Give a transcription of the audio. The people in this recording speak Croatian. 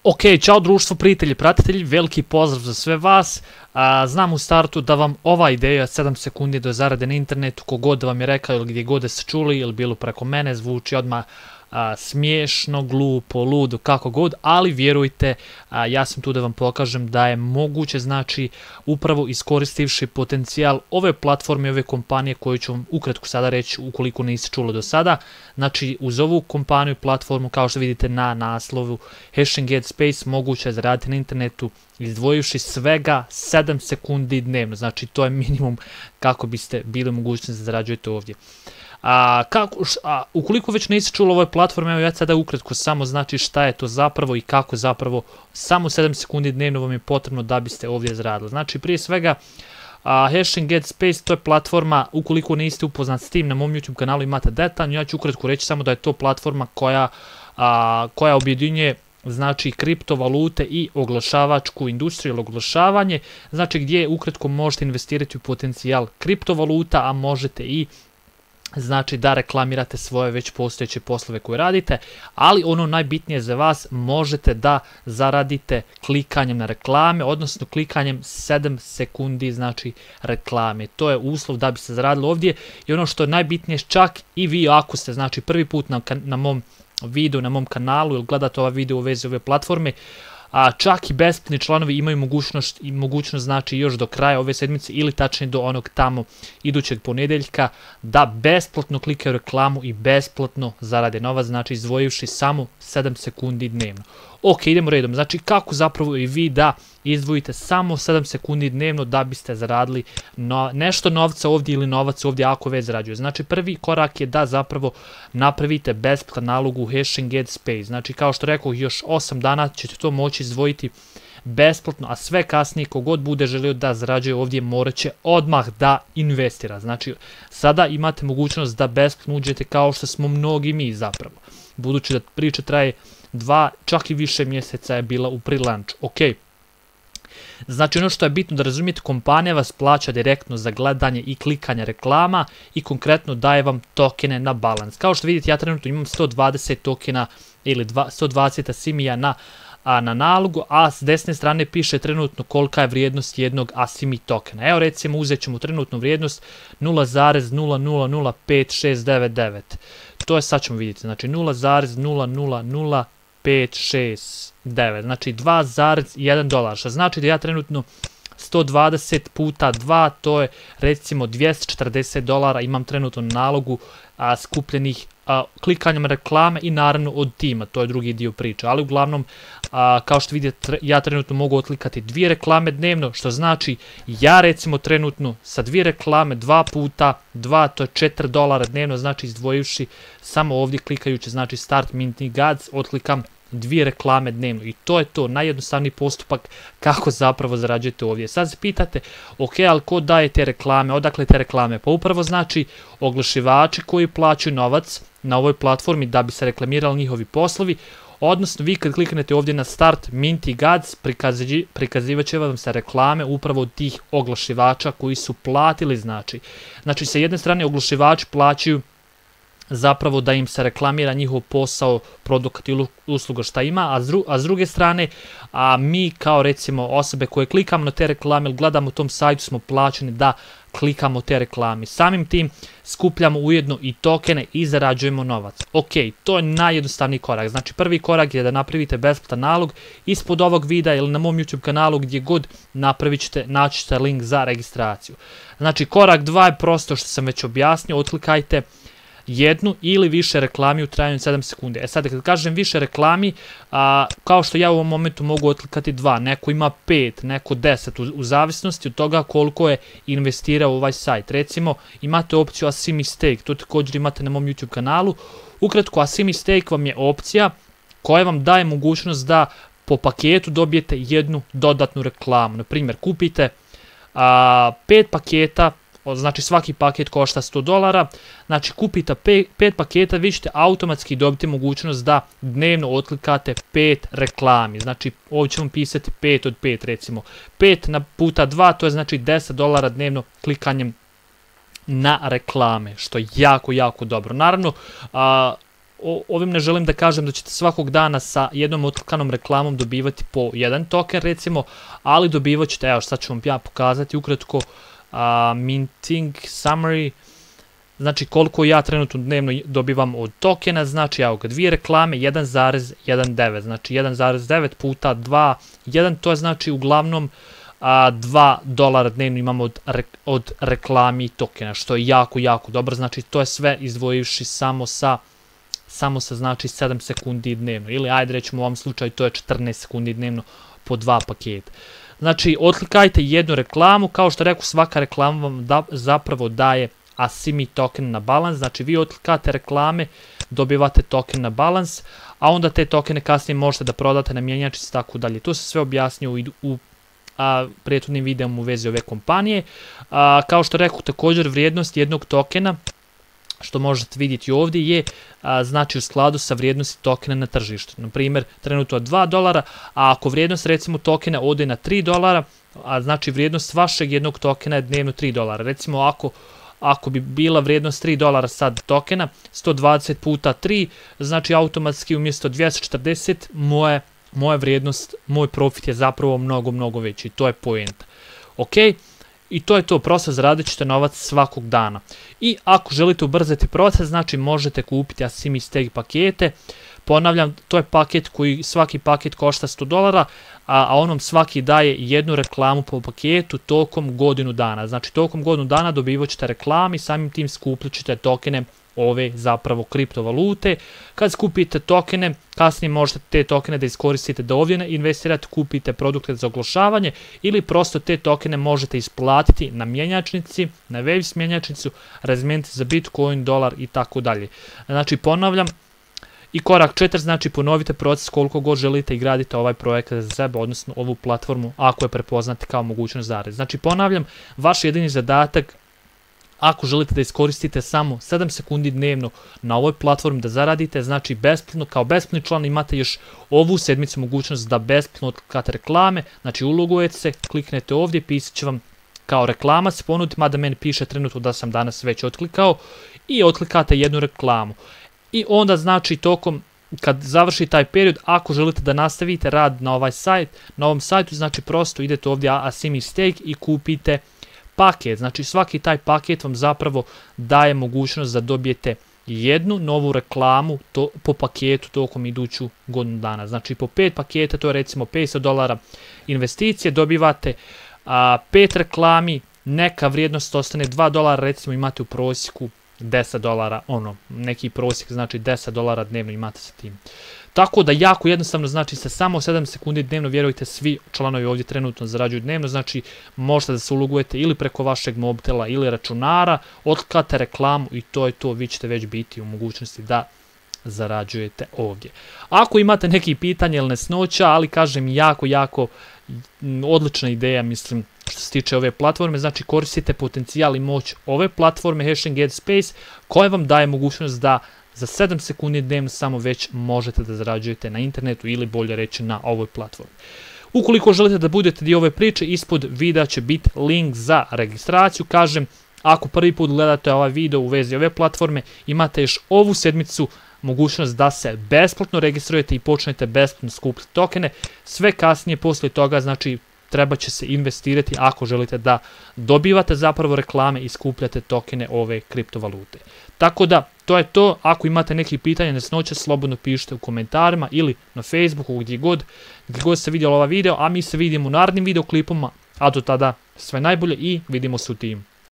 Ok, čao društvo, prijatelji, pratitelji, veliki pozdrav za sve vas. Znam u startu da vam ova ideja 7 sekundi do zarade na internetu, kogod da vam je rekao ili gdje god da ste čuli ili bilo preko mene, zvuči odmah smiješno, glupo, ludo, kako god, ali vjerujte, ja sam tu da vam pokažem da je moguće, znači, upravo iskoristivši potencijal ove platforme, ove kompanije koju ću vam ukratko sada reći ukoliko niste čuli do sada. Znači, uz ovu kompaniju i platformu, kao što vidite na naslovu Hashing Get Space, moguće je zaraditi na internetu izdvojivši svega 7 sekundi dnevno. Znači, to je minimum kako biste bili mogućnosti da zarađujete ovdje. Ukoliko već niste čuli o ovoj platformi, evo ja sada ukratko samo znači šta je to zapravo i kako zapravo samo 7 sekundi dnevno vam je potrebno da biste ovdje zaradili. Znači prije svega Hashing Get Space, to je platforma, ukoliko niste upoznati s tim, na mom YouTube kanalu imate detaljno, ja ću ukratko reći samo da je to platforma koja objedinjuje znači kriptovalute i oglašavačku industriju ili oglašavanje, znači gdje ukratko možete investirati u potencijal kriptovaluta, a možete i znači da reklamirate svoje već postojeće poslove koje radite, ali ono najbitnije za vas, možete da zaradite klikanjem na reklame, odnosno klikanjem 7 sekundi znači reklame. To je uslov da biste zaradili ovdje i ono što je najbitnije, čak i vi ako ste znači prvi put na mom videu, na mom kanalu ili gledate ovaj video u vezi ove platforme, čak i besplatni članovi imaju mogućnost znači još do kraja ove sedmice ili tačnije do onog tamo idućeg ponedjeljka da besplatno klikaju reklamu i besplatno zarade novac, znači izdvojivši samo 7 sekundi dnevno. Ok, idemo redom, znači kako zapravo i vi da izdvojite samo 7 sekundi dnevno da biste zaradili nešto novca ovdje ili novac ovdje ako već zarađuje. Znači prvi korak je da zapravo napravite besplatan nalog u Hashing Get Space. Znači kao što rekao, još 8 dana ćete to moći izdvojiti besplatno, a sve kasnije kogod bude želio da zarađuje ovdje morat će odmah da investira. Znači sada imate mogućnost da besplatno uđete kao što smo mnogi mi zapravo. Budući da priča traje 2, čak i više mjeseca je bila u pre-launch. Ok. Znači ono što je bitno da razumijete, kompanija vas plaća direktno za gledanje i klikanje reklama i konkretno daje vam tokene na balans. Kao što vidite, ja trenutno imam 120 tokena ili 120 asimija na nalogu, a s desne strane piše trenutno kolika je vrijednost jednog asimi tokena. Evo recimo uzet ćemo trenutnu vrijednost 0,005699. To je, sad ćemo vidjeti, znači 0,000569, znači $2,1, što znači da ja trenutno 120 puta 2, to je recimo $240 imam trenutno na nalogu skupljenih klikanjem reklame i naravno od tima, to je drugi dio priča, ali uglavnom kao što vidite ja trenutno mogu otlikati 2 reklame dnevno, što znači ja recimo trenutno sa 2 reklame 2 puta 2, to je $4 dnevno, znači izdvojivši samo ovdje klikajući znači Start Minting Ads otklikam 2 reklame dnevno i to je to, najjednostavniji postupak kako zapravo zarađujete ovdje. Sad se pitate, ok, ali ko daje te reklame, odakle te reklame? Pa upravo znači oglašivači koji plaćaju novac na ovoj platformi da bi se reklamirali njihovi poslovi, odnosno vi kad kliknete ovdje na Start Minting Ads, prikazivat će vam se reklame upravo od tih oglašivača koji su platili, znači sa jedne strane oglašivači plaćaju zapravo da im se reklamira njihov posao, produkt ili usluga šta ima, a s druge strane mi kao recimo osobe koje klikamo na te reklame ili gledamo tom sajtu smo plaćeni da klikamo te reklame. Samim tim skupljamo ujedno i tokene i zarađujemo novac. Ok, to je najjednostavniji korak. Znači prvi korak je da napravite besplatan nalog ispod ovog videa ili na mom YouTube kanalu gdje god naći ćete link za registraciju. Znači korak 2 je prosto što sam već objasnio, otklikajte jednu ili više reklami u trajanju 7 sekundi. Sad kad kažem više reklami, kao što ja u ovom momentu mogu otklikati 2, neko ima 5, neko 10, u zavisnosti od toga koliko je investirao u ovaj sajt. Recimo imate opciju Asimi Stake, to također imate na mom YouTube kanalu. Ukratko, Asimi Stake vam je opcija koja vam daje mogućnost da po paketu dobijete jednu dodatnu reklamu. Na primjer, kupite 5 paketa, znači svaki paket košta $100, znači kupite 5 paketa, vi ćete automatski dobiti mogućnost da dnevno otklikate 5 reklami, znači ovdje ćemo pisati 5 od 5 recimo, 5 puta 2, to je znači $10 dnevno klikanjem na reklame, što je jako, jako dobro. Naravno, ovim ne želim da kažem da ćete svakog dana sa jednom otklikanom reklamom dobivati po jedan token recimo, ali dobivat ćete, evo sad ću vam ja pokazati ukratko, minting summary, znači koliko ja trenutno dnevno dobivam od tokena, znači evo ga, 2 reklame, 1,19, znači 1,9 puta 2, 1, to je znači uglavnom $2 dnevno imamo od reklami tokena, što je jako, jako dobro, znači to je sve izdvojivši samo sa znači 7 sekundi dnevno, ili ajde rećemo u ovom slučaju to je 14 sekundi dnevno po 2 paketa. Znači, otklikajte jednu reklamu, kao što rekao, svaka reklama vam zapravo daje Asimi token na balans, znači vi otklikate reklame, dobivate token na balans, a onda te tokene kasnije možete da prodate na mjenjačnici i tako dalje. To se sve objasnio u prethodnim videom u vezi ove kompanije. Kao što rekao, također vrijednost jednog tokena, što možete vidjeti ovdje, je znači u skladu sa vrijednosti tokena na tržištu. Na primjer, trenutno $2, a ako vrijednost recimo tokena ode na $3, znači vrijednost vašeg jednog tokena je dnevno $3. Recimo ako bi bila vrijednost $3 sad tokena, 120 puta 3, znači automatski umjesto 240, moja vrijednost, moj profit je zapravo mnogo, mnogo veći. To je poenta. Ok? I to je to, prosto zaradit ćete novac svakog dana. I ako želite ubrzati proces, znači možete kupiti Asimi Stake pakete. Ponavljam, to je paket koji, svaki paket košta $100, a onom svaki daje jednu reklamu po paketu tokom godinu dana. Znači tokom godinu dana dobivat ćete reklame i samim tim skupljat ćete tokene ove zapravo kriptovalute. Kad skupite tokene, kasnije možete te tokene da iskoristite da ovdje investirate, kupite produkte za oglašavanje ili prosto te tokene možete isplatiti na mjenjačnici, na Waves mjenjačnicu, razmijeniti za Bitcoin, dolar i tako dalje. Znači ponavljam, i korak 4, znači ponovite proces koliko god želite i gradite ovaj projekat za sebe, odnosno ovu platformu ako je prepoznate kao mogućnost zarade. Znači ponavljam, vaš jedini zadatak, ako želite da iskoristite samo 7 sekundi dnevno na ovoj platformi da zaradite, znači besplatno, kao besplatni član imate još ovu sedmicu mogućnost da besplatno otklikate reklame, znači ulogujete se, kliknete ovdje, pisat će vam kao reklama se ponudi, mada meni piše trenutno da sam danas već otklikao, i otklikate jednu reklamu. I onda znači tokom, kad završi taj period, ako želite da nastavite rad na ovom sajtu, znači prosto idete ovdje Asimi Stake i kupite paket. Znači svaki taj paket vam zapravo daje mogućnost da dobijete jednu novu reklamu po paketu tokom iduću godinu dana. Znači po 5 paketa, to je recimo $500 investicije, dobivate 5 reklami, neka vrijednost ostane $2, recimo imate u prosjeku $10, neki prosjek, znači $10 dnevno imate sa tim. Tako da jako jednostavno, znači sa samo 7 sekundi dnevno, vjerujte, svi članovi ovdje trenutno zarađuju dnevno, znači možete da se ulogujete ili preko vašeg mobitela ili računara, otklikate reklamu i to je to, vi ćete već biti u mogućnosti da zarađujete ovdje. Ako imate neki pitanja ili nesnoća, ali kažem jako, jako odlična ideja, mislim, što se tiče ove platforme, znači koristite potencijal i moć ove platforme Hashing Headspace, koja vam daje mogućnost da za 7 sekundi dnevno samo već možete da zarađujete na internetu ili bolje reći na ovoj platformi. Ukoliko želite da budete dio ove priče, ispod videa će biti link za registraciju. Kažem, ako prvi put gledate ovaj video u vezi ove platforme, imate još ovu sedmicu mogućnost da se besplatno registrujete i počnete besplatno skupiti tokene. Sve kasnije poslije toga, znači, treba će se investirati ako želite da dobivate zapravo reklame i skupljate tokene ove kriptovalute. Tako da, to je to. Ako imate neki pitanja, nesnoće, slobodno pišite u komentarima ili na Facebooku, gdje god ste vidjeli ovaj video, a mi se vidimo u narednim videoklipama, a do tada sve najbolje i vidimo se u timu.